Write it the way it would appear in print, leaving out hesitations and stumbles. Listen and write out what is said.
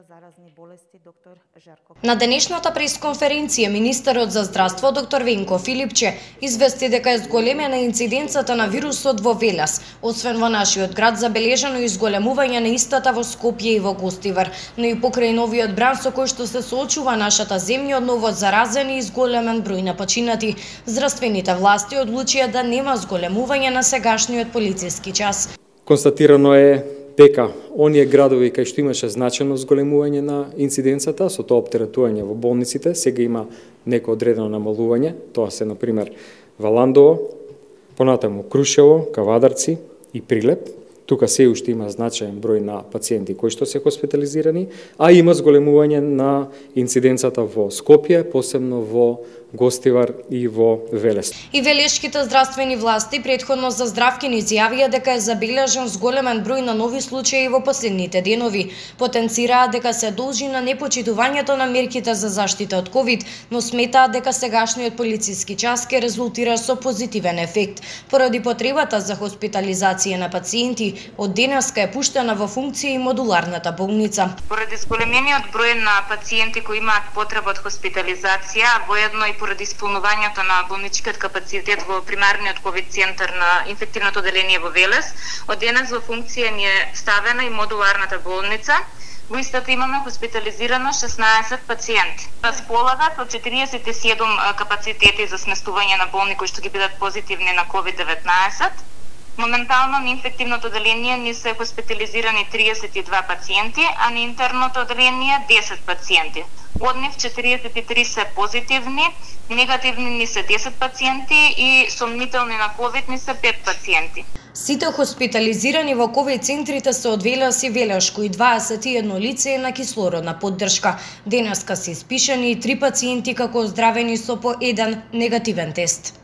за заразни болести доктор Жарко. На денешната пресконференција министерот за здравство доктор Венко Филипче извести дека е зголемена инциденцата на вирусот во Велес. Освен во нашиот град забележано изголемување на истата во Скопје и во Гостивар, но и покрај новиот бран со кој што се соочува нашата земја од ново заразени и зголемен број на починати. Здравствените власти одлучија да нема зголемување на сегашниот полициски час. Констатирано е дека оние градови кај што имаше значено зголемување на инциденцата, со тоа оптеретување во болниците, сега има неко одредено намалување, тоа се на пример Валандово, понатаму Крушево, Кавадарци и Прилеп. Тука се уште има значаен број на пациенти кои што се хоспитализирани, а има зголемување на инциденцата во Скопје, посебно во Гостивар и во Велес. И велешките здравствени власти претходно за Здравкин изјавија дека е забележан зголемен број на нови случаи во последните денови. Потенцираа дека се должи на непочитувањето на мерките за заштита од ковид, но сметаат дека сегашниот полициски час ќе резултира со позитивен ефект. Поради потребата за хоспитализација на пациенти, од денеска е пуштена во функција и модуларната болница. Поради зголемениот број на пациенти кои имаат потреба од хоспитализација, воедно и поради исполнувањето на болничкиот капацитет во примарниот ковид центар на инфективното оделение во Велес, од денес во функција ни е ставена и модуларната болница. Во истата имаме хоспитализирано 16 пациенти. Располагат со 47 капацитети за сместување на болни кои што ги бидат позитивни на COVID-19. Моментално на инфективното оделение ни се хоспитализирани 32 пациенти, а на интерното оделение 10 пациенти. Од нив 43 се позитивни, негативни ни се 10 пациенти и сомнителни на COVID ни се 5 пациенти. Сите хоспитализирани во ковид центрите се од Велес и Велешко и 21 лице е на кислородна поддршка. Денеска се испишани 3 пациенти како оздравени со по 1 негативен тест.